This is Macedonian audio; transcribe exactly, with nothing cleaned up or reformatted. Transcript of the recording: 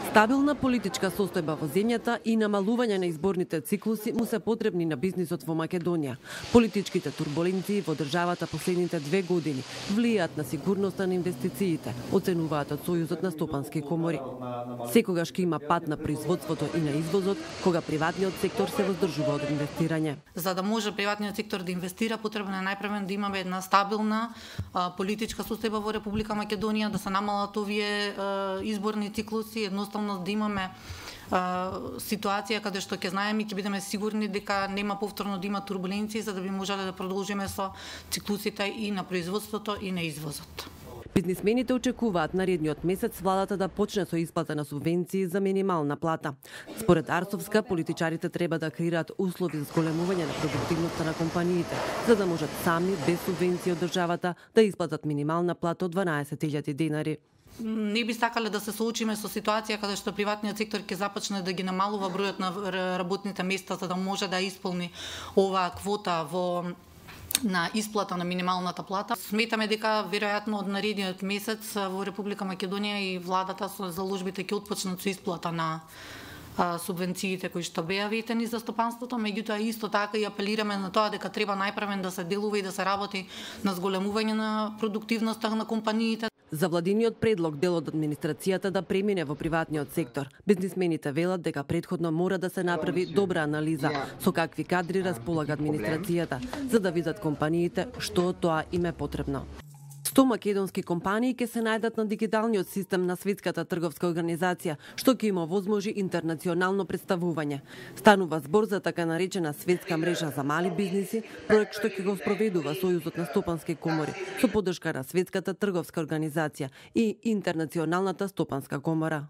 Стабилна политичка состојба во земјата и намалување на изборните циклуси му се потребни на бизнисот во Македонија. Политичките турбуленции во државата последните две години влијаат на сигурноста на инвестициите, оценуваат од Сојузот на стопански комори. Секогаш ќе има пат на производството и на извозот, кога приватниот сектор се воздржува од инвестирање. За да може приватниот сектор да инвестира, потребно е најпрвен да имаме една стабилна а, политичка состојба во Република Македонија, да се намалат овие а, изборни циклуси, едноставно да имаме а, ситуација каде што ќе знаеме и ќе бидеме сигурни дека нема повторно да има турбуленции, за да би можеле да продолжиме со циклусите и на производството и на извозот. Бизнисмените очекуваат наредниот месец владата да почне со исплата на субвенции за минимална плата. Според Арсовска, политичарите треба да креираат услови за зголемување на продуктивноста на компаниите, за да можат сами без субвенции од државата да исплатат минимална плата од дванаесет илјади денари. Не би сакале да се соочиме со ситуација каде што приватниот сектор ќе започне да ги намалува бројот на работните места за да може да исполни оваа квота во на исплата на минималната плата. Сметаме дека веројатно од наредниот месец во Република Македонија и владата со заложбите ќе отпочнат со исплата на а, субвенциите кои што беа ветени за стопанството, меѓутоа исто така и апелираме на тоа дека треба најпрвен да се делува и да се работи на зголемување на продуктивноста на компаниите. За владиниот предлог дел од администрацијата да премине во приватниот сектор. Бизнисмените велат дека претходно мора да се направи добра анализа со какви кадри располага администрацијата, за да видат компаниите што од тоа им е потребно. сто македонски компании ќе се најдат на дигиталниот систем на Светската трговска организација, што ќе има возможи интернационално представување. Станува збор за така наречена светска мрежа за мали бизниси, проект што ќе го спроведува Сојузот на стопански комори со поддршка на Светската трговска организација и Интернационалната стопанска комора.